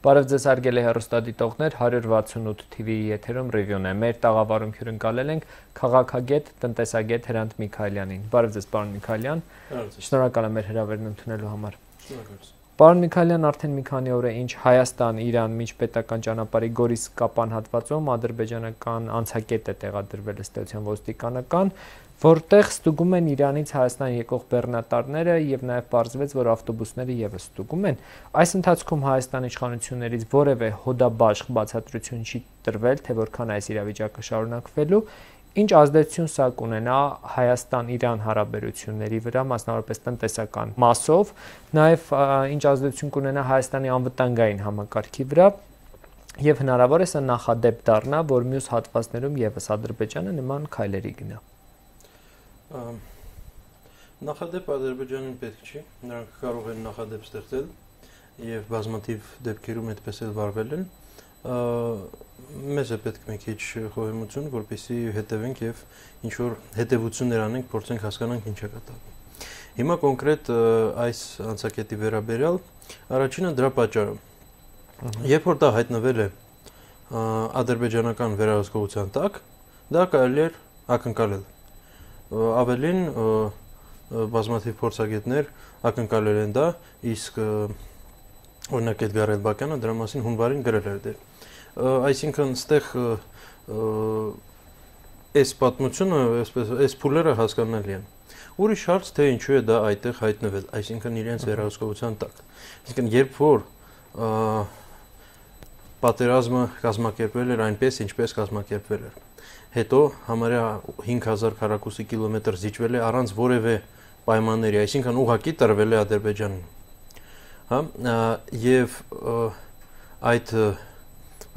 Բարև ձեզ հարգելի հեռուստադիտողներ, 168 TV-ի եթերում ռիվյուն է։ Մեր տաղավարում հյուրընկալել ենք քաղաքագետ, տնտեսագետ Հրանտ Միքայելյանին։ Բարև ձեզ, պարոն Միքայելյան։ Շնորհակալ եմ մեր հրավերն ընդունելու համար։ Պարոն Միքայելյան, արդեն մի քանի օր է ինչ Հայաստան-Իրան միջպետական ճանապարհի Գորիս-Կապան հատվածում ադրբեջանական անցակետ է տեղադրվել ըստ էության ոստիկանական, որտեղ ստուգում են Իրանից Հայաստան եկող բեռնատարները եւ նաեւ պարզվեց, որ ավտոբուսները եւս ստուգում են։ Այս ընթացքում Հայաստանի իշխանություններից որևէ հոդաբաշխ բացատրություն չի տրվել, թե որքան այս իրավիճակը շարունակվելու, ինչ ազդեցություն սա կունենա Հայաստան-Իրան հարաբերությունների վրա, մասնավորապես տնտեսական մասով, նաեւ ինչ ազդեցություն կունենա Հայաստանի անվտանգային համակարգի վրա, եւ հնարավոր է սա նախադեպ դառնա, որ մյուս հատվածներում եւս Ադրբեջանը նման քայլերի գնա։ Նախադեպ Ադրբեջանին պետք չի, նրանք կարող են նախադեպ ստեղծել եւ բազմաթիվ դեպքերում այդպես էլ վարվել են։ Մեզ է պետք մի քիչ խոհեմություն, որպեսզի հետևենք եւ ինչ որ հետևություններ անենք, փորձենք հասկանանք ինչ է կատարվում։ Հիմա կոնկրետ այս անցակետի վերաբերյալ առաջինը դրա պատճառը։ Երբ որ դա հայտնվել է ադրբեջանական վերահսկողության տակ, դա կարելի է ակնկալել։ Ավելին բազմաթիվ փորձագետներ ակնկալել են դա, իսկ օրինակ Էդգար Էլբակյանը դրա մասին հունվարին գրել էր դեր։ Այսինքն ստեղ այս պատմությունը, այս փուլերը հասկանալի են։ Ուրիշ հարց, թե ինչու է դա այդտեղ հայտնվել, այսինքն իրենց վերահսկողության տակ։ Այսինքն երբ որ պատերազմը կազմակերպվել էր այնպես, ինչպես կազմակերպվել էր, հետո համարյա 5000 քառակուսի կիլոմետր զիջվել է առանց որևէ պայմանների, այսինքն ուղղակի տրվել է Ադրբեջանին։ Հա, եւ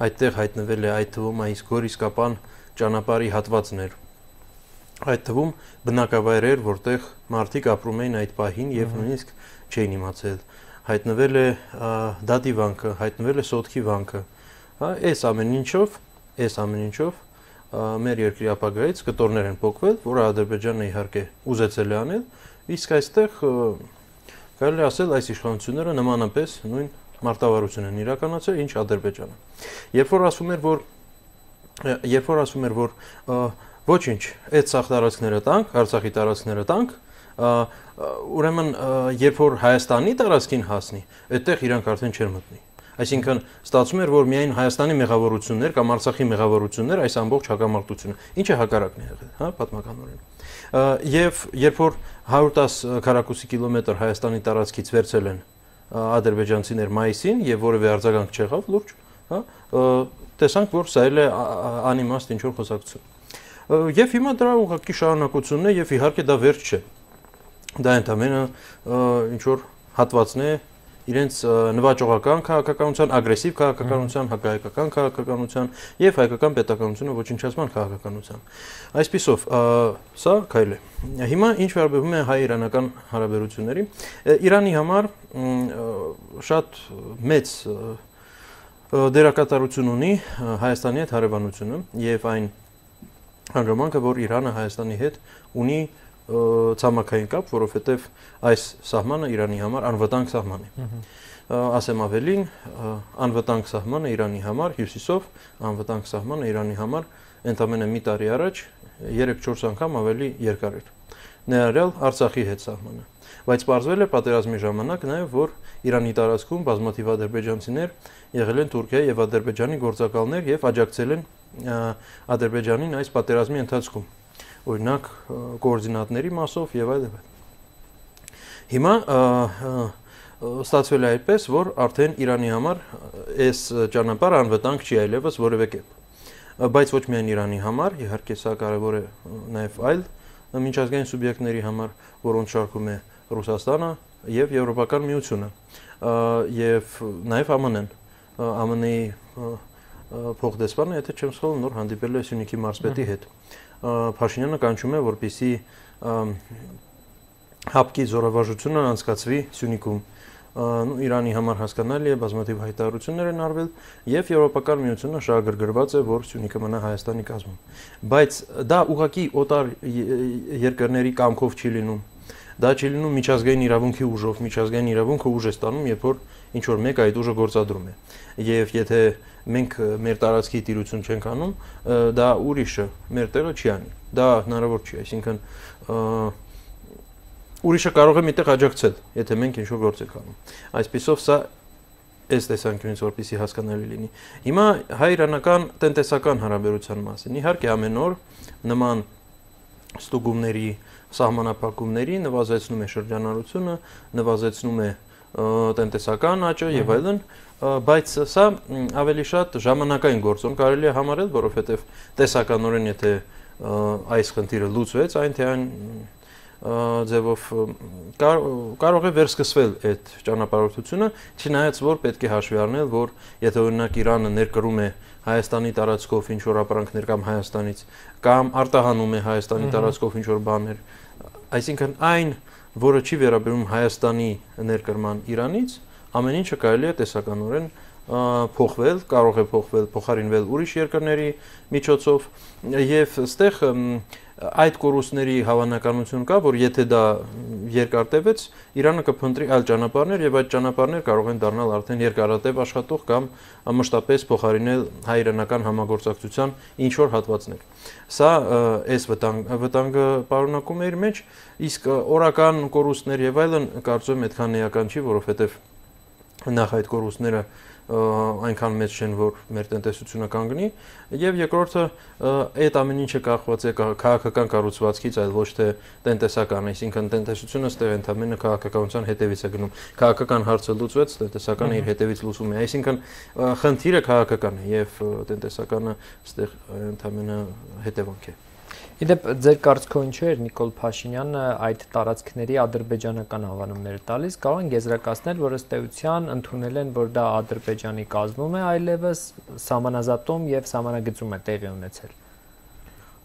այդտեղ հայտնվել է այդ թվում այս Գորիս-Կապան ճանապարհի հատվածներ։ Այդ թվում բնակավայրեր, որտեղ մարդիկ ապրում էին այդ պահին եւ նույնիսկ չէին իմացել։ Հայտնվել է դատի վանքը, հայտնվել է սոտքի վանքը։ Հա, այս ամեն ինչով մեր երկրի ապագայից կտորներ են փոխվել, որը Ադրբեջանը իհարկե ուզեցել է անել, իսկ այստեղ կարելի ասել այս իշխանությունները նմանապես նույն մարտավարություն են իրականացրել, ինչ Ադրբեջանը։ Երբ որ ասում էր, որ ոչինչ, այդ սաղ տարածքները տանք, Արցախի տարածքները տանք, ուրեմն երբ որ Հայաստանի տարածքին հասնի, այդտեղ իրանք արդեն չեր մտնի։ Այսինքն ստացվում էր, որ միայն Հայաստանի մեղավորություններ կամ Արցախի մեղավորություններ այս ամբողջ հակամարտությունը, ինչը հակառակն է եղել, հա, պատմականորեն։ Եվ երբ որ 110 քառակուսի կիլոմետր Հայաստանի տարածքից վերցել են ադրբեջանցիներ մայիսին եւ որևէ արձագանք չեղավ լուրջ, հա, տեսանք, որ սա էլ է անիմաստ ինչ որ խոսակցություն։ Եվ հիմա դրա ուղղակի շարունակությունն է եւ իհարկե դա վերջ չէ։ Դա ընդամենը ինչ որ հատվածն է իրենց նվաճողական քաղաքականության, ագրեսիվ քաղաքականության, հակահայկական քաղաքականության եւ հայկական պետականությունը ոչնչացման քաղաքականության։ Այսպիսով, սա քայլ է։ Հիմա ինչ վերաբերում է հայ-իրանական հարաբերությունների, Իրանի համար շատ մեծ դերակատարություն ունի Հայաստանի հետ հարևանությունը եւ այն հանգամանքը, որ Իրանը Հայաստանի հետ ունի ցամաքային կապ, որովհետև այս սահմանը Իրանի համար անվտանգ սահման է։ Ասեմ ավելին, անվտանգ սահմանը Իրանի համար հյուսիսով, անվտանգ սահմանը Իրանի համար ընդամենը մի տարի առաջ 3-4 անգամ ավելի երկար էր։ Ներառյալ Արցախի հետ սահմանը։ Բայց պարզվել է պատերազմի ժամանակ նաև, որ Իրանի տարածքում բազմաթիվ ադրբեջանցիներ եղել են Թուրքիայի եւ Ադրբեջանի գործակալներ եւ աջակցել են Ադրբեջանին այս պատերազմի ընթացքում։ Օրինակ կոորդինատների մասով եւ այլն։ Հիմա ստացվել է այդպես, որ արդեն Իրանի համար այս ճանապարհը անվտանգ չի այլևս որևէ կերպ։ Բայց ոչ միայն Իրանի համար, իհարկե սա կարևոր է նաեւ այլ միջազգային սուբյեկտների համար, որոնց շարքում է Ռուսաստանը եւ Եվրոպական միությունը եւ նաեւ ԱՄՆ-ն։ ԱՄՆ-ի փոխդեսպանը, եթե չեմ սխալվում, նոր հանդիպել է Սյունիքի մարզպետի հետ։ Փաշինյանը կանչում է, որպեսզի հապկի զորավարժությունը անցկացվի Սյունիքում։ Իրանի համար հասկանալի է, բազմաթիվ հայտարարություններ են արվել եւ Եվրոպական միությունը շահագրգռված է, որ Սյունիքը մնա Հայաստանի կազմում։ Բայց դա ուղղակի օտար երկրների կամքով չի լինում։ Դա չի լինում միջազգային իրավունքի ուժով, միջազգային իրավունքը ուժ է ստանում, երբ որ ինչ որ մեկ այդ ուժը գործադրում է։ Եվ եթե մենք մեր տարածքի տիրություն չենք անում, դա ուրիշը մեր տեղը չի անի։ Դա հնարավոր չի, այսինքն ուրիշը կարող է միտեղ աջակցել, եթե մենք ինչ-որ գործ ենք անում։ Այսպիսով սա այս տեսանկյունից որպեսզի հասկանալի լինի։ Հիմա հայ-իրանական տնտեսական հարաբերության մասին։ Իհարկե ամեն օր նման ստուգումների, սահմանափակումների նվազեցնում է շրջանառությունը, նվազեցնում է տնտեսական աճը եւ այլն, բայց սա ավելի շատ ժամանակային գործոն կարելի է համարել, որովհետեւ տեսականորեն եթե այս խնդիրը լուծվեց, այն թե այն ձևով կարող է վերսկսվել այդ ճանապարհորդությունը, չնայած որ պետք է հաշվի առնել, որ եթե օրինակ Իրանը ներկրում է Հայաստանի տարածքով ինչ որ ապրանքներ կամ Հայաստանից կամ արտահանում է Հայաստանի տարածքով ինչ որ բաներ, այսինքն այն, որը չի վերաբերում Հայաստանի ներկրման Իրանից, ամեն ինչը կարելի է տեսականորեն փոխվել, կարող է փոխարինվել ուրիշ երկրների միջոցով եւ այստեղ այդ կորուստների հավանականություն կա, որ եթե դա երկար տևեց, Իրանը կփնտրի այլ ճանապարհներ եւ այդ ճանապարհներ կարող են դառնալ արդեն երկարատև աշխատող կամ մշտապես փոխարինել հայ-իրանական համագործակցության ինչ որ հատվածներ։ Սա այս վտանգը պարունակում է իր մեջ, իսկ օրական կորուստներ եւ այլն կարծում եմ այդքան էական չի, որովհետեւ նախ այդ կորուստները այնքան մեծ չեն, որ մեր տնտեսությունը կանգնի, եւ երկրորդը այդ ամեն ինչը կախված է քաղաքական կառուցվածքից, այլ ոչ թե տնտեսական, այսինքն տնտեսությունը ստեղ ընդհանրապես քաղաքականության հետևից է գնում։ Քաղաքական հարցը լուծվեց, տնտեսականը իր հետևից լուծում է, այսինքն խնդիրը քաղաքական է եւ տնտեսականը ստեղ ընդհանրապես հետևանք է։ Իդեպ ձեր կարծիքով ինչու էր Նիկոլ Փաշինյանը այդ տարածքների ադրբեջանական անվանումները տալիս, կարող են եզրակացնել, որ ըստ էության ընդունել են, որ դա Ադրբեջանի կազմում է, այլևս սահմանազատում եւ սահմանագծում է տեղի ունեցել։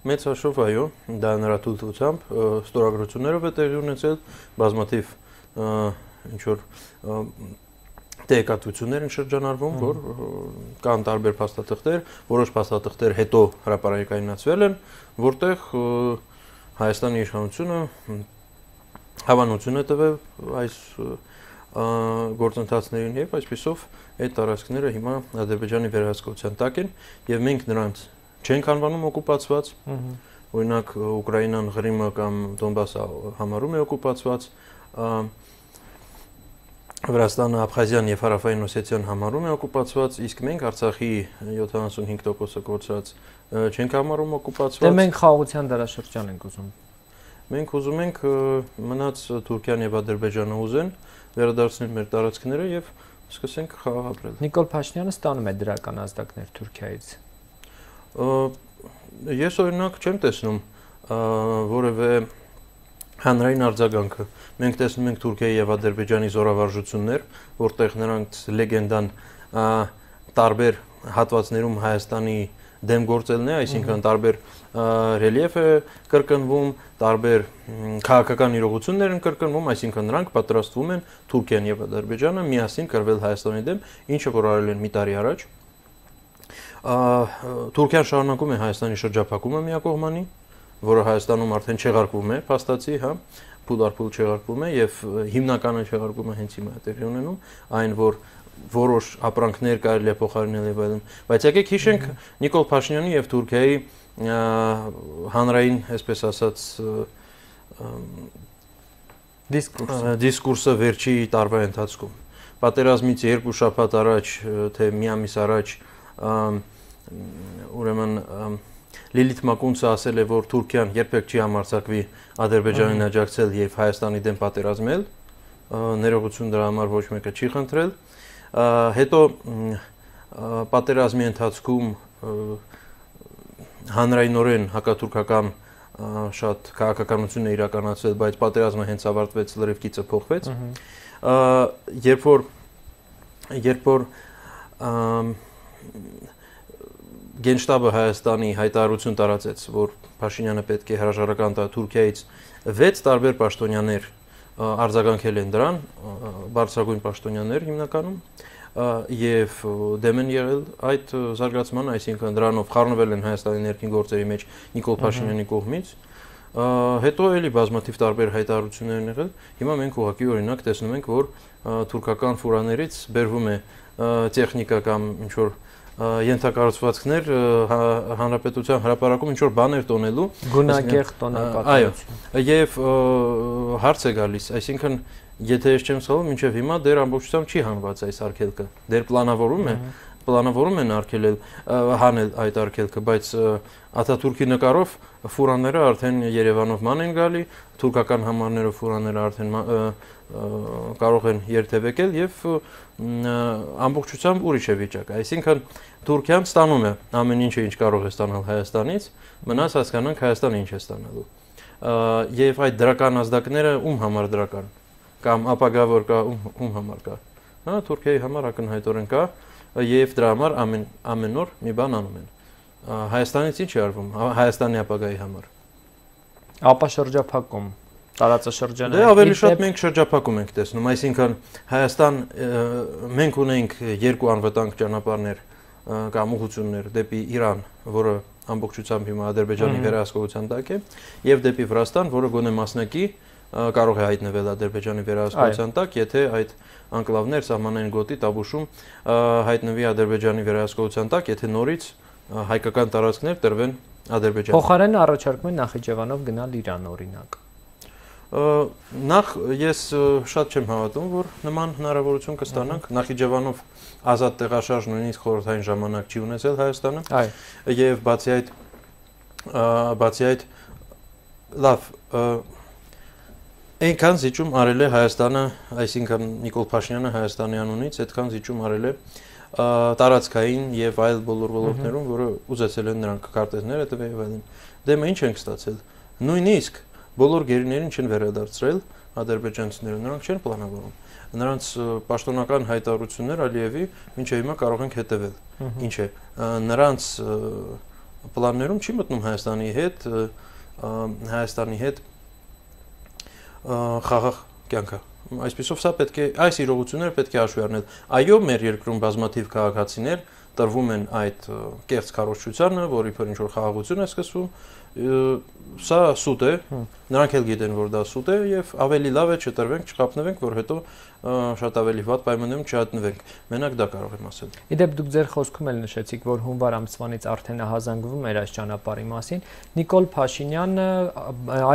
Մեծ հաշվով այո, դա նրա թույլտվությամբ ստորագրություններով է տեղի ունեցել, բազմաթիվ ինչ որ տեղեկատվություններ են շրջանառվում, որ կան տարբեր փաստաթղթեր, որոշ փաստաթղթեր հետո հրապարակայնացվել են, որտեղ Հայաստանի իշխանությունը հավանություն է տվել այս գործընթացներին եւ այսպիսով այդ տարածքները հիմա Ադրբեջանի վերահսկողության տակ են եւ մենք նրանց չենք անվանում օկուպացված, օրինակ Ուկրաինան, Ղրիմը կամ Դոնբասը համարում է օկուպացված, Վրաստանը, Աբխազիան եւ Հարավային Օսեթիան համարում է օկուպացված, իսկ մենք Արցախի 75%-ը կորցրած չենք համարում օկուպացված։ Դե մենք խաղաղության դարաշրջան ենք ուզում։ Մենք ուզում ենք մնաց Թուրքիան եւ Ադրբեջանը ուզեն վերադարձնել մեր տարածքները եւ սկսենք խաղաղ ապրել։ Նիկոլ Փաշինյանը ստանում է դրական ազդակներ Թուրքիայից։ Ես օրինակ չեմ տեսնում որևէ հանրային արձագանքը։ Մենք տեսնում ենք Թուրքիայի եւ Ադրբեջանի զորավարժություններ, որտեղ նրանց լեգենդան տարբեր հատվածներում Հայաստանի դեմ գործելն է, այսինքն տարբեր ռելիեֆ է կրկնվում, տարբեր քաղաքական իրողություններ են կրկնվում, այսինքն նրանք պատրաստվում են Թուրքիան եւ Ադրբեջանը միասին կռվել Հայաստանի դեմ, ինչը որ արել են մի տարի առաջ։ Թուրքիան շարունակում է Հայաստանի շրջափակումը միակողմանի, որը Հայաստանում արդեն չեղարկվում է, փաստացի, հա, փուլ չեղարկվում է եւ հիմնականը չեղարկումը հենց հիմա է տեղի ունենում, այն որ որոշ ապրանքներ կարելի է փոխարինել եւ այլն, բայց եկեք հիշենք Նիկոլ Փաշինյանի եւ Թուրքիայի հանրային, այսպես ասած, դիսկուրսը վերջի տարվա ընթացքում։ Պատերազմից 2 շաբաթ առաջ, թե մի ամիս առաջ, ուրեմն Լիլիթ Մակունցը ասել է, որ Թուրքիան երբեք չի համարձակվի Ադրբեջանին աջակցել եւ Հայաստանի դեմ պատերազմել, ներողություն դրա համար ոչ մեկը չի խնդրել։ Հետո պատերազմի ընթացքում հանրայնորեն հակաթուրքական շատ քաղաքականություն է իրականացվել, բայց պատերազմը հենց ավարտվեց, լրիվ գիծը փոխվեց։ Երբ որ Գենշտաբը Հայաստանի հայտարարություն տարածեց, որ Փաշինյանը պետք է հրաժարական տա Թուրքիայից 6 տարբեր պաշտոնյաներ արձագանքել են դրան, բարձրագույն պաշտոնյաներ հիմնականում, եւ դեմ են եղել այդ զարգացմանը, այսինքն դրանով խառնվել են Հայաստանի ներքին գործերի մեջ Նիկոլ Փաշինյանի կողմից, Հետո էլի բազմաթիվ տարբեր հայտարարություններ են եղել։ Հիմա մենք ուղղակի օրինակ տեսնում ենք, որ թուրքական ֆուրաներից բերվում է տեխնիկա կամ ինչ որ ենթակառուցվածքներ հանրապետության հրապարակում ինչ որ բաներ տոնելու գունագեղ տոնակատարություն։ Այո, եւ հարց է գալիս, այսինքն եթե ես չեմ սխալվում, մինչև հիմա դեռ ամբողջությամբ չի հանված այս արգելքը։ Դեռ պլանավորում են արգելել հանել այդ արգելքը, բայց Աթաթուրքի նկարով ֆուրաները արդեն Երևանով ման են գալի, թուրքական համարներով ֆուրաները արդեն կարող են երթևեկել եւ ամբողջությամբ ուրիշ է վիճակը։ Այսինքն Թուրքիան ստանում է ամեն ինչը, ինչ կարող է ստանալ Հայաստանից, մնաց հասկանանք Հայաստանը ինչ է ստանալու։ Եվ այդ դրական ազդակները ում համար դրական կամ ապագա որ կա ում համար կա։ Հա, Թուրքիայի համար ակնհայտորեն կա եւ դրա համար ամեն օր մի բան անում են։ Հայաստանից ինչ է արվում Հայաստանի ապագայի համար։ Ապա շրջափակում տարածաշրջանը։ Դե ավելի շատ մենք շրջափակում ենք տեսնում, այսինքն Հայաստան մենք ունենք երկու անվտանգ ճանապարհներ կամ ուղղություններ դեպի Իրան, որը ամբողջությամբ հիմա Ադրբեջանի վերահսկողության տակ է, եւ դեպի Վրաստան, որը գոնե մասնակի կարող է հայտնվել Ադրբեջանի վերահսկողության տակ, եթե այդ անկլավներ սահմանային գոտի Տաբուշում հայտնվի Ադրբեջանի վերահսկողության տակ, եթե նորից հայկական տարածքներ տրվեն Ադրբեջանին։ Փոխարենը առաջարկում են Նախիջևանով գնալ Իրան օրինակ։ Նախ ես շատ չեմ հավատում, որ նման հնարավորություն կստանանք Նախիջևանով ազատ տեղաշարժ նույնիսկ խորհրդային ժամանակ չի ունեցել Հայաստանը։ Եվ բացի այդ լավ այնքան զիջում արել է Հայաստանը, այսինքն Նիկոլ Փաշինյանը Հայաստանի անունից այդքան զիջում արել է տարածքային եւ այլ բոլոր ոլորտներում, որը ուզեցել են նրանք քարտեզները տվել եւ այլն։ Դե մենք ինչ ենք ստացել։ Նույնիսկ բոլոր գերիներին չեն վերադարձրել ադրբեջանցիները, նրանք չեն պլանավորում։ Նրանց պաշտոնական հայտարարություններ Ալիևի մինչև հիմա կարող ենք հետևել։ Ինչ է, նրանց պլաններում չի մտնում Հայաստանի հետ խաղաղ կյանքը։ Այսպեսով սա պետք է այս իրողությունները պետք է հաշվի առնել։ Այո, մեր երկրում բազմաթիվ քաղաքացիներ տրվում են այդ կեղծ քարոզչությանը, որի վրա ինչ որ խաղաղություն է սկսվում, սա սուտ է, նրանք էլ գիտեն, որ դա սուտ է եւ ավելի լավ է չտրվենք, չխափնվենք, որ հետո շատ ավելի վատ պայմաններում չհատնվենք։ Մենակ դա կարող եմ ասել։ Իդեպ դուք ձեր խոսքում էլ նշեցիք, որ հունվար ամսվանից արդեն հազանգվում էր այս ճանապարհի մասին։ Նիկոլ Փաշինյանը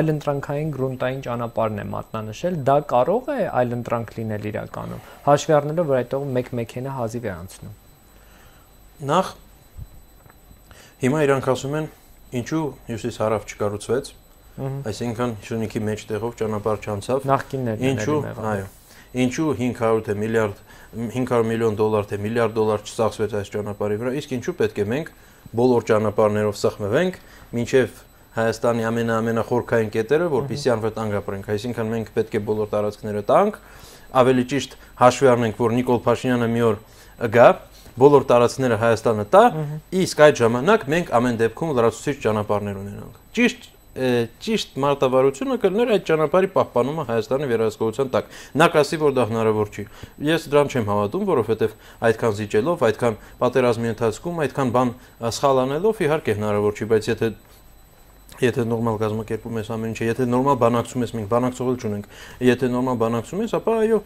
այլընտրանքային գրունտային ճանապարհն է մատնանշել, դա կարող է այլընտրանք լինել իրականում, հաշվի առնելով, որ այդտեղ մեկ մեքենա հազիվ է անցնում։ Նախ հիմա իրանք ասում են ինչու հյուսիս-հարավ չկառուցվեց, այսինքն Շունիկի մեջտեղով ճանապարհ չանցավ։ Նախկիններն այո, ինչու 500 միլիոն դոլար թե միլիարդ դոլար չծախսվեց այս ճանապարհի վրա, իսկ ինչու պետք է մենք բոլոր ճանապարհներով սխմվենք, մինչև Հայաստանի ամենախորքային կետերը, որպեսզի անվտանգ ապրենք, այսինքն մենք պետք է բոլոր տարածքները տանք, ավելի ճիշտ հաշվի առնենք, որ Նիկոլ Փաշինյանը մի օր գա, բոլոր տարածքները Հայաստանը տա, իսկ այդ ժամանակ մենք ամեն դեպքում լրացուցիչ ճանապարհներ ունենանք։ Ճիշտ մարտավարությունը կլներ այդ ճանապարհի պահպանումը Հայաստանի վերահսկողության տակ։ Նա կասի, որ դա հնարավոր չի։ Ես դրան չեմ հավատում, որովհետև այդքան զիջելով, այդքան պատերազմի ընթացքում, այդքան բան սխալ անելով իհարկե հնարավոր չի, բայց եթե նորմալ կազմակերպում ես ամեն ինչը, եթե նորմալ բանակցում ես, մենք բանակցողել չունենք, եթե նորմալ բանակցում ես, ապա այո,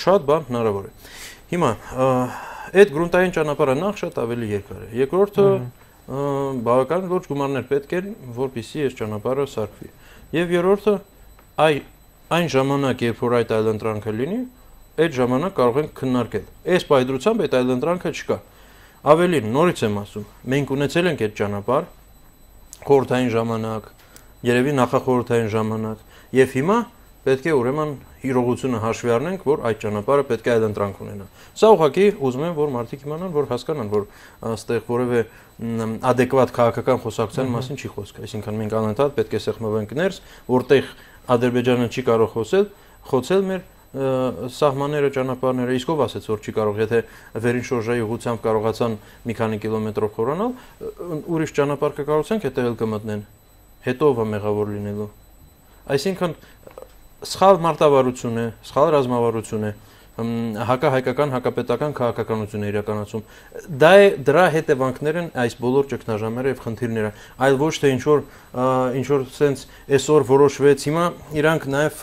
շատ բան հնարավոր է։ Հիմա այդ գրունտային ճանապարհը նախ շատ ավելի երկար է։ Երկրորդը բավական լուրջ գումարներ պետք են, որպեսզի այս ճանապարհը սարքվի։ Եվ երրորդը այն ժամանակ, երբ որ այդ այլընտրանքը լինի, այդ ժամանակ կարող ենք քննարկել։ Այս պայծրությամբ այդ այլընտրանքը չկա։ Ավելին, նորից եմ ասում, մենք ունեցել ենք այդ ճանապարհ խորհրդային ժամանակ, երևի նախախորհրդային ժամանակ, եւ հիմա պետք է ուրեմն իրողությունը հաշվի առնենք, որ այդ ճանապարհը պետք է այլընտրանք ունենա։ Սա ուղղակի ուզում եմ, որ մարդիկ իմանան, որ հասկանան, որ այստեղ որևէ adekvat քաղաքական խոսակցության մասին չի խոսք։ Այսինքն մենք անընդհատ պետք է սեղմվենք ներս, որտեղ Ադրբեջանը չի կարող խոցել մեր սահմանները, ճանապարհները, իսկ ով ասեց, որ չի կարող, եթե վերին շորժայի ուղղությամբ կարողացան մի քանի կիլոմետրով խորանալ, ուրիշ ճանապարհ կկառուցենք, հետևել կմտնեն։ Հետո ով է մեղավոր լինելու։ Այսինքն սխալ մարտավարություն է, սխալ ռազմավարություն է, հակահայկական, հակապետական քաղաքականություն է իրականացում։ Դա է դրա հետևանքներն այս բոլոր ճգնաժամերը եւ խնդիրները, այլ ոչ թե ինչ որ sense այսօր որոշվեց, հիմա իրանք նաեւ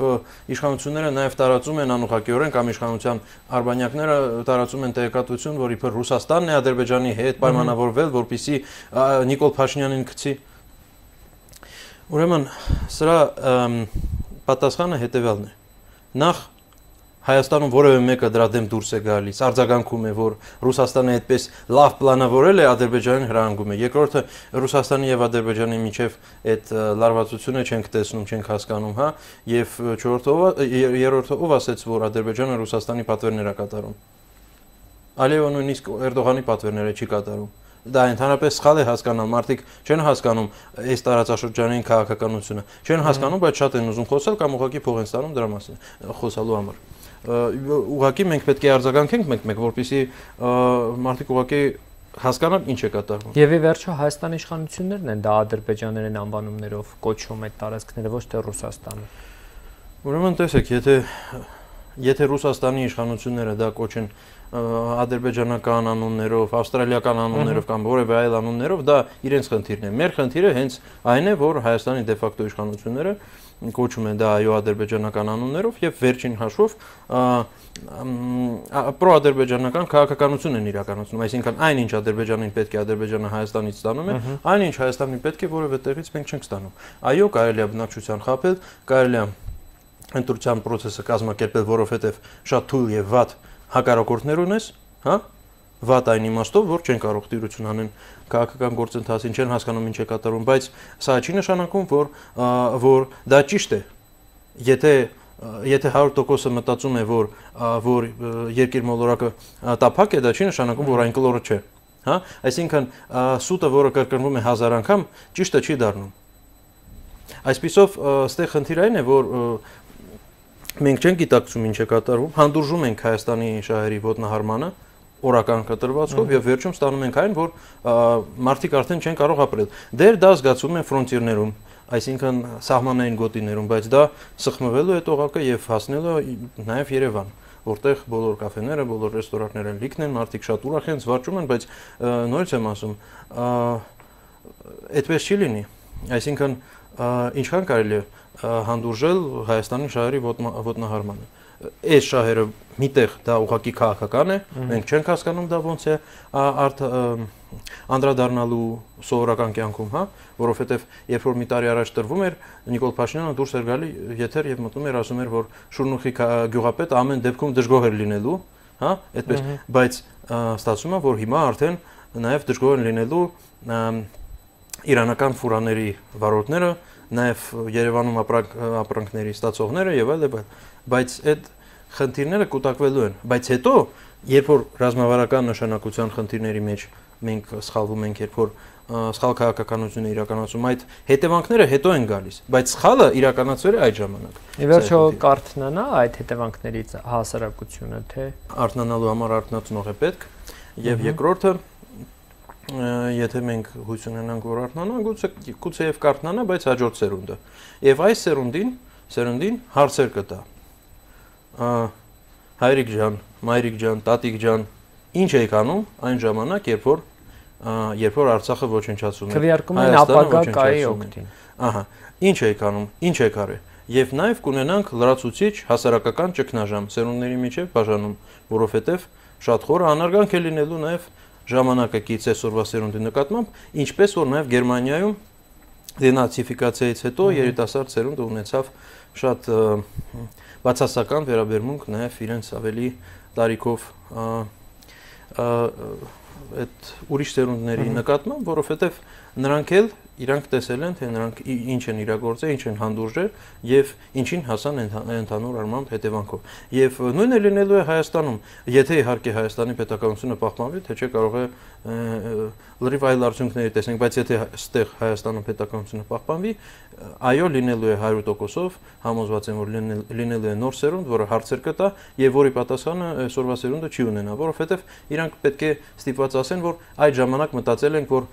իշխանությունները նաեւ տարածում են անուղղակիորեն կամ իշխանության արբանյակները տարածում են տեղեկատվություն, որ իբր Ռուսաստանն է Ադրբեջանի հետ պայմանավորվել, որպեսզի Նիկոլ Փաշինյանին գցի։ Ուրեմն սրա պատասխանը հետևյալն է։ Նախ Հայաստանում որևէ մեկը դրա դեմ դուրս է գալիս, արձագանքում է, որ Ռուսաստանը այդպես լավ պլանավորել է, Ադրբեջանին հրահանգում է։ Երկրորդը Ռուսաստանի եւ Ադրբեջանի միջև այդ լարվածությունը չենք տեսնում, չենք հասկանում, հա, եւ երրորդը ով ասեց, որ Ադրբեջանը Ռուսաստանի պատվերներ է կատարում։ Ալիևը նույնիսկ Էրդողանի պատվերները չի կատարում։ Դա ընդհանրապես սխալ է հասկանալ, մարդիկ չեն հասկանում այս տարածաշրջանային քաղաքականությունը, չեն հասկանում, բայց շատ են ուզում խոսալ կամ ուղղակի փող են ստանում դրա մասին խոսալու համար։ Ուղղակի մենք պետք է արձագանքենք մեկ-մեկ, որպեսզի մարդիկ ուղղակի հասկանան ինչ է կատարվում։ Եվ ի վերջո Հայաստանի իշխանություններն են դա ադրբեջաներեն անվանումներով կոչում այդ տարածքները, ոչ թե Ռուսաստանը։ Ուրեմն տեսեք, եթե Ռուսաստանի իշխանությունները դա կոչեն ադրբեջանական անուններով, ավստրալիական անուններով կամ որևէ այլ անուններով, դա իրենց խնդիրն է։ Մեր խնդիրը հենց այն է, որ Հայաստանի դե ֆակտո իշխանությունները կոչում են դա այո ադրբեջանական անուններով եւ վերջին հաշվով պրոադրբեջանական քաղաքականություն են իրականացնում, այսինքն այնինչ Ադրբեջանին պետք է Ադրբեջանը Հայաստանից ստանում է, այնինչ Հայաստանին պետք է որևէ տեղից մենք չենք ստանում։ Այո, կարելի է բնակչության խաբել, կարելի է ընտրության process-ը կազմակերպել, որովհետեւ շատ թույլ եւ վատ հակառակորդներ ունես, հա? Վատ այն իմաստով, որ չեն կարող տիրություն անեն քաղաքական գործընթացին, չեն հասկանում ինչ է կատարվում, բայց սա չի նշանակում, որ դա ճիշտ է։ Եթե 100%-ը մտածում է, որ երկիր մոլորակը տափակ է, դա չի նշանակում, որ այն կլորը չէ, հա? Այսինքն սուտը, որը կրկնվում է 1000 անգամ, ճիշտը չի դառնում։ Այսպիսով, այստեղ խնդիրը այն է, որ մենք չենք գիտակցում ինչ է կատարվում, հանդուրժում ենք Հայաստանի շահերի ոտնահարմանը օրական կտրվածքով եւ վերջում ստանում ենք այն, որ մարդիկ արդեն չեն կարող ապրել։ Դեր դա զգացում են ֆրոնտիրներում, այսինքն սահմանային գոտիներում, բայց դա սխմվելու է տողակը եւ հասնելու նաեւ Երևան, որտեղ բոլոր կաֆեները, բոլոր ռեստորանները լիքն են, մարդիկ շատ ուրախ են, զվարճում են, բայց նորից եմ ասում, այդպես չի լինի։ Այսինքն ինչքան կարելի է հանդուրժել Հայաստանի շահերի ոտնահարմանը։ Այս շահերը միտեղ դա ուղղակի քաղաքական է, մենք չենք հասկանում դա ոնց է անդրադառնալու սովորական կյանքում, հա, որովհետև երբ որ մի տարի առաջ տրվում էր, Նիկոլ Փաշինյանը դուրս էր գալի եթեր եւ մտնում էր, ասում էր, որ Շուրնուխի գյուղապետը ամեն դեպքում դժգոհ էր լինելու, հա, այդպես, բայց ստացվում է, որ հիմա արդեն նաեւ դժգոհ են լինելու իրանական ֆուրաների վարորդները, նաև Երևանում ապրանքների ստացողները եւ այլ, բայց այդ խնդիրները կուտակվելու են, բայց հետո երբ որ ռազմավարական նշանակության խնդիրների մեջ մենք սխալվում ենք, երբ որ սխալ քաղաքականություն է իրականացում, այդ հետևանքները հետո են գալիս, բայց սխալը իրականացվել է այդ ժամանակ։ Ի վերջո կարթնանա այդ հետևանքներից հասարակությունը, թե արթնանալու համար արթնացնող է պետք, եւ երկրորդը եթե մենք հույս ունենանք, որ արթնանա, գուցե եւ կարթնանա, բայց հաջորդ սերունդը։ Եվ այս սերունդին հարցեր կտա։ Հայրիկ ջան, մայրիկ ջան, տատիկ ջան, ինչ եք անում այն ժամանակ, երբ որ Արցախը ոչնչացում է։ Քվեարկում են ապագա կայի օգտին։ Ահա, ինչ եք անում, ինչ եք արել։ Եվ նաեւ կունենանք լրացուցիչ հասարակական ճգնաժամ սերունդների միջև բաժանում, որովհետեւ շատ խորը անարգանք է լինելու նաեւ ժամանակակից այսօրվա սերունդի նկատմամբ, ինչպես որ նաև Գերմանիայում դենացիֆիկացիայից հետո երիտասարդ սերունդը ունեցավ շատ բացասական վերաբերմունք նաև իրենց ավելի տարիքով այդ ուրիշ սերունդների նկատմամբ, որովհետև նրանք էլ իրանք տեսել են, թե նրանք ինչ են իրագործել, ինչ են հանդուրժել եւ ինչին հասան ընդհանուր առմամբ հետևանքով։ Եվ նույնը լինելու է Հայաստանում, եթե իհարկե Հայաստանի պետականությունը պահպանվի, թե չէ կարող է լրիվ այլ արդյունքներ տեսնենք, բայց եթե այստեղ Հայաստանը պետականությունը պահպանվի, այո, լինելու է 100%-ով, համոզված եմ, որ լինելու է նոր սերունդ, որը հարցեր կտա եւ որի պատասխանը այսօրվա սերունդը չի ունենա, որովհետեւ իրանք պետք է ստիպված ասեն, որ այդ ժամանակ մտածել ենք, որ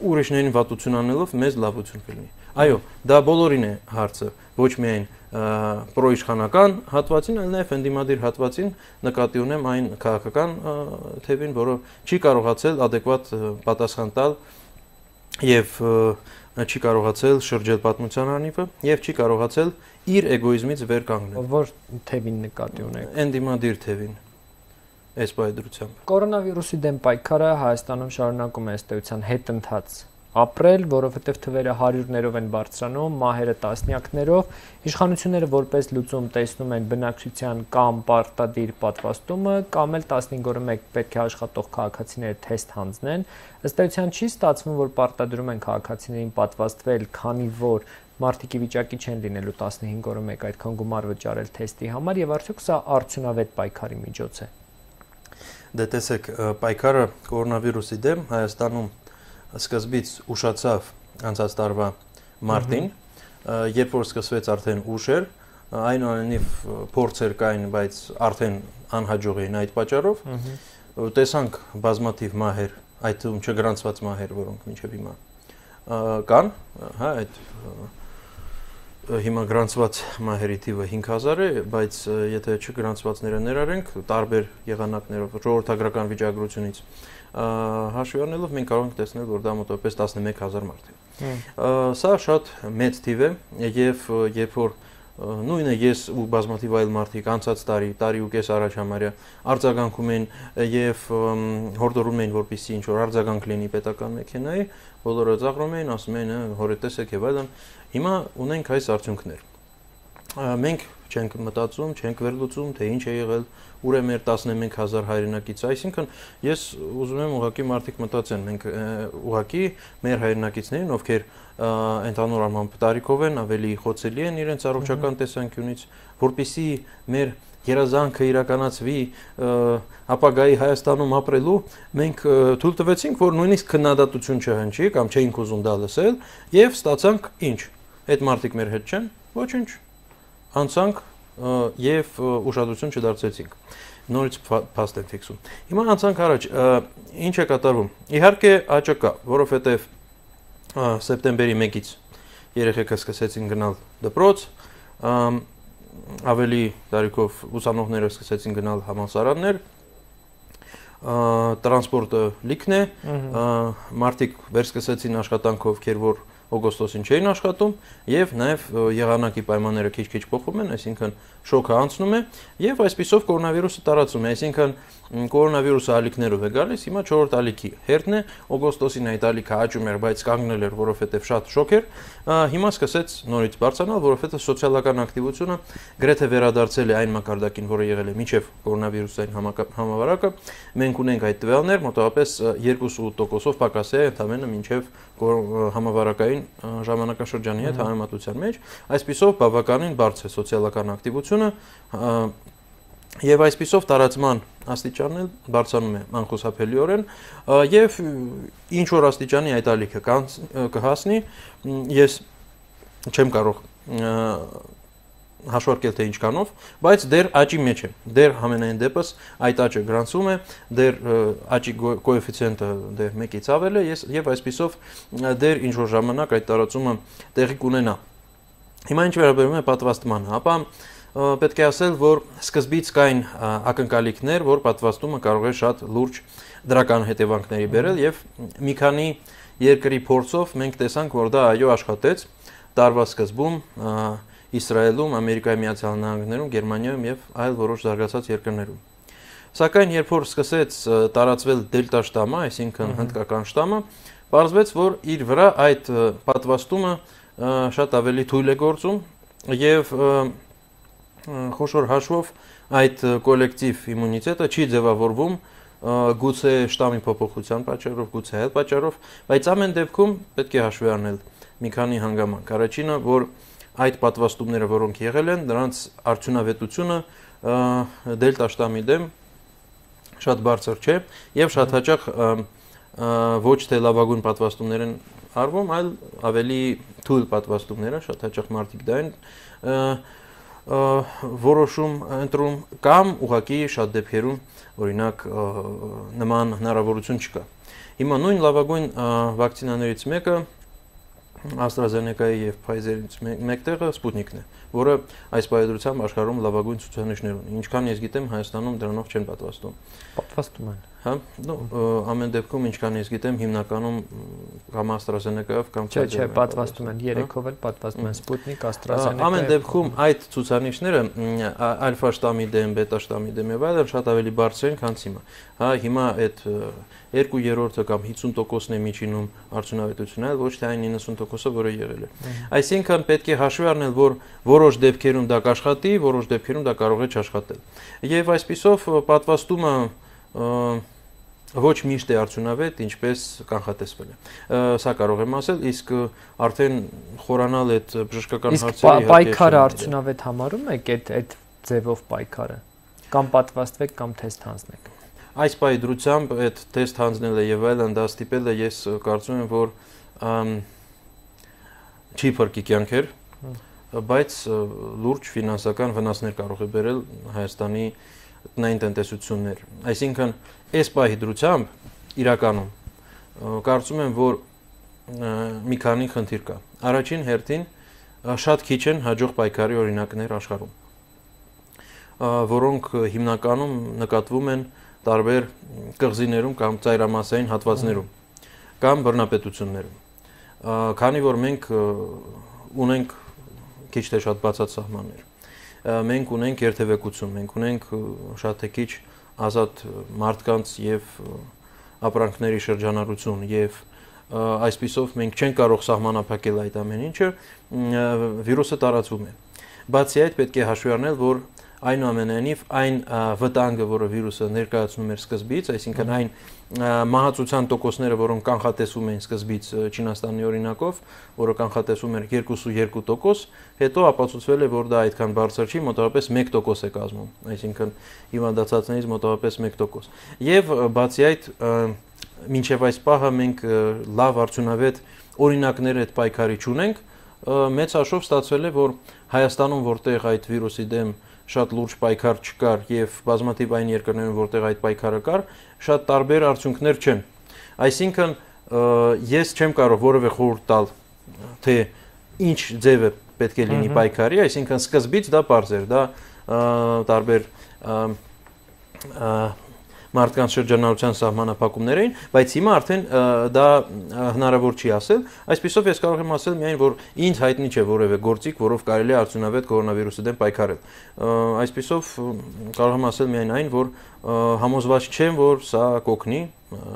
ուրիշներին վատություն անելով մեզ լավություն կլինի։ Այո, դա բոլորին է հարցը, ոչ միայն պրոիշխանական հատվածին, այլ նաև ընդդիմադիր հատվածին նկատի ունեմ այն քաղաքական թևին, որը չի կարողացել adekvat պատասխան տալ եւ չի կարողացել շրջել պատմության անիվը եւ չի կարողացել իր էգոիզմից վեր կանգնել։ Որ թևին նկատի ունեք։ Ընդդիմադիր թևին։ Այս բայդրությամբ։ Կորոնավիրուսի դեմ պայքարը Հայաստանում շարունակում է ըստ էության հետընթաց ապրել, որովհետև թվերը հարյուրներով են բարձրանում, մահերը տասնյակներով, իշխանությունները որպես լուծում տեսնում են բնակչության կամ պարտադիր պատվաստումը, կամ էլ 15-1 պետք է աշխատող քաղաքացիները թեստ հանձնեն։ Ըստ էության չի ստացվում, որ պարտադրում են քաղաքացիներին պատվաստվել, քանի որ մարդիկ ի վիճակի չեն լինելու 15-1 այդքան գումար վճարել թեստի համար, եւ արդյոք սա արդյունավետ պայքարի միջոց է։ Դե տեսեք, պայքարը կորոնավիրուսի դեմ Հայաստանում սկզբից ուշացավ անցած տարվա մարտին, երբ որ սկսվեց արդեն ուշ էր, այնուամենայնիվ փորձեր կային, բայց արդեն անհաջող էին այդ պատճառով, տեսանք բազմաթիվ մահեր, այդ թվում չգրանցված մահեր, որոնք մինչև հիմա կան, հա, այդ հիմա գրանցված մահերի թիվը 5000 է, բայց եթե չգրանցվածները ներառենք, տարբեր եղանակներով ժողովրդագրական վիճակագրությունից հաշվի առնելով մենք կարող ենք տեսնել, որ դա մոտավորապես 11000 մարդ է։ Սա շատ մեծ թիվ է եւ երբ որ նույնը ես ու բազմաթիվ այլ մարդիկ անցած տարի ու կես առաջ համարյա արձագանքում են եւ հորդորում են, որպեսզի ինչ որ արձագանք լինի պետական մեքենայի, բոլորը ծաղրում են, ասում են, հորետեսեք եւ այլն։ Հիմա ունենք այս արդյունքներ։ Մենք չենք մտածում, չենք վերլուծում, թե ինչ է եղել, ուր է մեր 11000 հայրենակիցը, այսինքն ես ուզում եմ ուղղակի մարդիկ մտածեն, մենք ուղղակի մեր հայրենակիցներին, ովքեր ընդհանուր առմամբ տարիքով են, ավելի խոցելի են իրենց առողջական տեսանկյունից, որպեսզի մեր երազանքը իրականացվի ապագայի Հայաստանում ապրելու, մենք թույլ տվեցինք, որ նույնիսկ քննադատություն չհնչի կամ չէինք ուզում դա լսել եւ ստացանք ինչ։ Այդ մարդիկ մեր հետ չեն, ոչինչ։ Անցանք եւ ուշադրություն չդարձեցինք։ Նորից փաստ ենք ֆիքսում։ Հիմա անցանք առաջ, ինչ է կատարվում։ Իհարկե աճը կա, որովհետեւ սեպտեմբերի 1-ից երեխեքը սկսեցին գնալ դպրոց, ավելի տարիքով ուսանողները սկսեցին գնալ համալսարաններ, տրանսպորտը լիքն է, մարդիկ վերսկսեցին աշխատանքով, ովքեր որ օգոստոսին չէին աշխատում եւ նաեւ եղանակի պայմանները քիչ-քիչ փոխվում են, այսինքն շոկը անցնում է եւ այսպիսով կորոնավիրուսը տարածում է, այսինքն կորոնավիրուսը ալիքներով է գալիս, հիմա 4-րդ ալիքի հերթն է, օգոստոսին այդ ալիքը աճում էր, բայց կանգնել էր, որովհետեւ շատ շոկ էր, հիմա սկսեց նորից բարձրանալ, որովհետեւ սոցիալական ակտիվությունը գրեթե վերադարձել է այն մակարդակին, որը եղել է մինչեւ կորոնավիրուսային համավարակը, մենք ունենք այդ տվյալներ, մոտավորապես 2.8%-ով պակաս է ընդամենը մինչեւ համավարակային ժամանակաշրջանի հետ համեմատության մեջ, այսպիսով բավականին բարձր է սոցիալական ակտիվությունը եւ այսպիսով տարածման աստիճանն էլ բարձրանում է անխուսափելիորեն եւ ինչ որ աստիճանի այդ ալիքը կհասնի, ես չեմ կարող հաշվարկել թե ինչքանով, բայց դեռ աճի մեջ է, դեռ համենայն դեպս այդ աճը գրանցվում է, դեռ աճի կոեֆիցիենտը դեռ 1-ից ավել է եւ այսպիսով դեռ ինչ որ ժամանակ այդ տարածումը տեղի կունենա։ Հիմա ինչ վերաբերում է պատվաստմանը, ապա պետք է ասել, որ սկզբից կային ակնկալիքներ, որ պատվաստումը կարող է շատ լուրջ դրական հետևանքների բերել եւ մի քանի երկրի փորձով մենք տեսանք, որ դա այո աշխատեց տարվա սկզբում Իսրայելում, Ամերիկայի Միացյալ Նահանգներում, Գերմանիայում եւ այլ որոշ զարգացած երկրներում։ Սակայն երբ որ սկսեց տարածվել դելտա շտամը, այսինքն հնդկական շտամը, պարզվեց, որ իր վրա այդ պատվաստումը շատ ավելի թույլ է գործում եւ խոշոր հաշվով այդ կոլեկտիվ իմունիտետը չի ձևավորվում գուցե շտամի փոփոխության պատճառով, գուցե այլ պատճառով, բայց ամեն դեպքում պետք է հաշվի առնել մի քանի հանգամանք։ Առաջինը, որ այդ պատվաստումները, որոնք եղել են, նրանց արդյունավետությունը դելտա շտամի դեմ շատ բարձր չէ եւ շատ հաճախ ոչ թե լավագույն պատվաստումներ են արվում, այլ ավելի թույլ պատվաստումներ են, շատ հաճախ մարդիկ դա են որոշում ընտրում կամ ուղղակի շատ դեպքերում օրինակ նման հնարավորություն չկա։ Հիմա նույն լավագույն վակցինաներից մեկը AstraZeneca-ի եւ Pfizer-ից մեկտեղը Sputnik-ն է, որը այս պայծրությամբ աշխարհում լավագույն ցուցանիշներ ունի։ Ինչքան ես գիտեմ, Հայաստանում դրանով չեն պատվաստում։ Պատվաստում են։ Հա, ամեն դեպքում ինչքան ես գիտեմ, հիմնականում կամ AstraZeneca-ով կամ Չէ, պատվաստում են, 3-ով էլ պատվաստում են Sputnik, AstraZeneca։ Ամեն դեպքում այդ ցուցանիշները ալֆա շտամի դեմ, բետա շտամի դեմ եւ այլն շատ ավելի բարձր են, քան հիմա։ Հա, հիմա այդ 2/3 կամ 50%-ն է միջինում արդյունավետությունը, այլ ոչ թե այն 90%-ը, որը եղել է։ Այսինքն պետք է հաշվի առնել, որ որոշ դեպքերում դա կաշխատի, որոշ դեպքերում դա կարող է չաշխատել։ Եվ այսպիսով պատվաստումը ոչ միշտ է արդյունավետ, ինչպես կանխատեսվել է։ Սա կարող եմ ասել, իսկ արդեն խորանալ այդ բժշկական հարցերի իսկ պայքարը արդյունավետ համարում եք այդ ձևով պայքարը, կամ պատվաստվեք, կամ թեստ հանձնեք։ Այս պայդրությամբ այդ թեստ հանձնելը եւ այլն դա ստիպել է, ես կարծում եմ, որ չի փրկի կյանքեր, բայց լուրջ ֆինանսական վնասներ կարող է բերել Հայաստանի տնային տնտեսություններ։ Այսինքն, այս պահի իրականում կարծում եմ, որ մի քանի խնդիր կա։ Առաջին հերթին շատ քիչ են հաջող պայքարի օրինակներ աշխարհում, որոնք հիմնականում նկատվում են տարբեր կղզիներում կամ ծայրամասային հատվածներում կամ բռնապետություններում։ Քանի որ մենք ունենք քիչ թե շատ բացած սահմաններ, մենք ունենք երթևեկություն, մենք ունենք շատ թե քիչ ազատ մարդկանց եւ ապրանքների շրջանառություն եւ այսպիսով մենք չենք կարող սահմանափակել այդ ամեն ինչը, վիրուսը տարածվում է։ Բացի այդ պետք է հաշվի առնել, որ այնուամենայնիվ այն վտանգը, որը վիրուսը ներկայացնում էր սկզբից, այսինքն այն մահացության տոկոսները, որոնք կանխատեսվում էին սկզբից Չինաստանի օրինակով, որը կանխատեսվում էր 2.2%, հետո ապացուցվել է, որ դա այդքան բարձր չի, մոտավորապես 1% է կազմում, այսինքն հիվանդացածներից մոտավորապես 1%։ Եվ բացի այդ, մինչև այս պահը մենք լավ արդյունավետ օրինակներ այդ պայքարի չունենք, մեծ հաշվով ստացվել է, որ Հայաստանում, որտեղ այդ վիրուսի դեմ շատ լուրջ պայքար չկար եւ բազմաթիվ այն երկրներում, որտեղ այդ պայքարը կար, շատ տարբեր արդյունքներ չեն։ Այսինքն ես չեմ կարող որևէ խորհուրդ տալ, թե ինչ ձև է պետք է լինի պայքարի, այսինքն սկզբից դա պարզ էր, դա տարբեր մարդկանց շրջանառության սահմանափակումներ էին, բայց հիմա արդեն դա հնարավոր չի ասել։ Այսպիսով ես կարող եմ ասել միայն, որ ինձ հայտնի չէ որևէ գործիք, որով կարելի է արդյունավետ կորոնավիրուսի դեմ պայքարել։ Այսպիսով կարող եմ ասել միայն այն, որ համոզված չեմ, որ սա կօգնի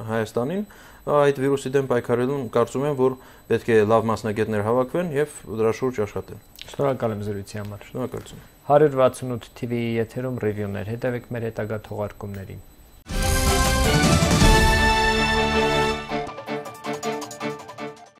Հայաստանին այդ վիրուսի դեմ պայքարելուն, կարծում եմ, որ պետք է լավ մասնագետներ հավաքվեն եւ դրա շուրջ աշխատեն։ Շնորհակալ եմ զրույցի համար։ Շնորհակալություն։ 168 TV-ի եթերում ռիվյուներ, հետևեք մեր հետագա թողարկումներին։